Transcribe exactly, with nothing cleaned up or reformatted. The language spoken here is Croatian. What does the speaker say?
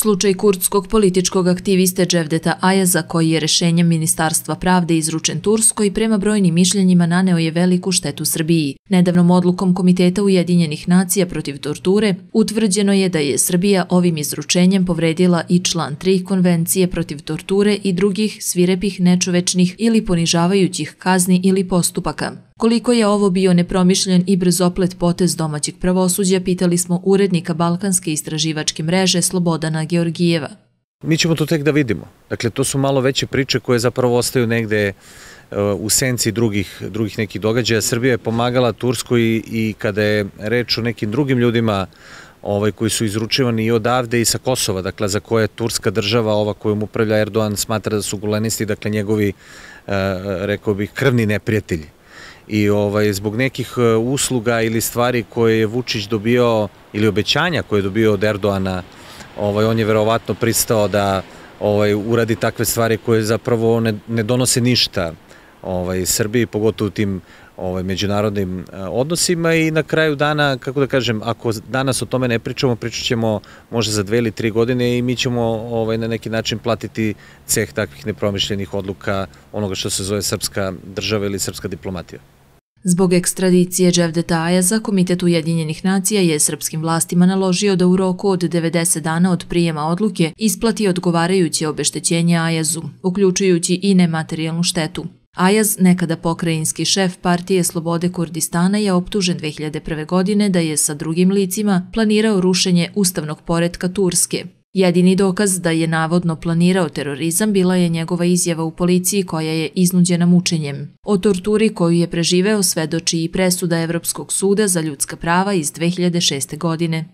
Slučaj kurdskog političkog aktiviste Cevdeta Ayaza, koji je rešenjem Ministarstva pravde izručen Turskoj, prema brojnim mišljenjima naneo je veliku štetu Srbiji. Nedavnom odlukom Komiteta Ujedinjenih nacija protiv torture utvrđeno je da je Srbija ovim izručenjem povredila i član tri Konvencije protiv torture i drugih svirepih, nečovečnih ili ponižavajućih kazni ili postupaka. Koliko je ovo bio nepromišljen i brzoplet potez domaćeg pravosuđa, pitali smo urednika Balkanske istraživačke mreže Slobodana Georgijeva. Mi ćemo to tek da vidimo. Dakle, to su malo veće priče koje zapravo ostaju negde u senci drugih, drugih nekih događaja. Srbija je pomagala Turskoj i kada je reč o nekim drugim ljudima ovaj, koji su izručivani i odavde i sa Kosova, dakle, za koje Turska država, ova kojom upravlja Erdogan, smatra da su gulenisti, dakle, njegovi, rekao bih, krvni neprijatelji. I ovaj, zbog nekih usluga ili stvari koje je Vučić dobio, ili obećanja koje je dobio od Erdoana, ovaj, on je verovatno pristao da ovaj, uradi takve stvari koje zapravo ne, ne donose ništa ovaj, Srbiji, pogotovo u tim ovaj, međunarodnim odnosima. I na kraju dana, kako da kažem, ako danas o tome ne pričamo, pričat ćemo možda za dve ili tri godine i mi ćemo ovaj, na neki način platiti ceh takvih nepromišljenih odluka onoga što se zove srpska država ili srpska diplomatija. Zbog ekstradicije Cevdeta Ayaza, Komitet Ujedinjenih nacija je srpskim vlastima naložio da u roku od devedeset dana od prijema odluke isplati odgovarajuće obeštećenje Ayazu, uključujući i nematerijalnu štetu. Ayaz, nekada pokrajinski šef Partije slobode Kurdistana, je optužen dve hiljade prve. godine da je sa drugim licima planirao rušenje ustavnog poretka Turske. Jedini dokaz da je navodno planirao terorizam bila je njegova izjava u policiji koja je iznuđena mučenjem. O torturi koju je preživeo svedoči i presuda Evropskog suda za ljudska prava iz dve hiljade šeste. godine.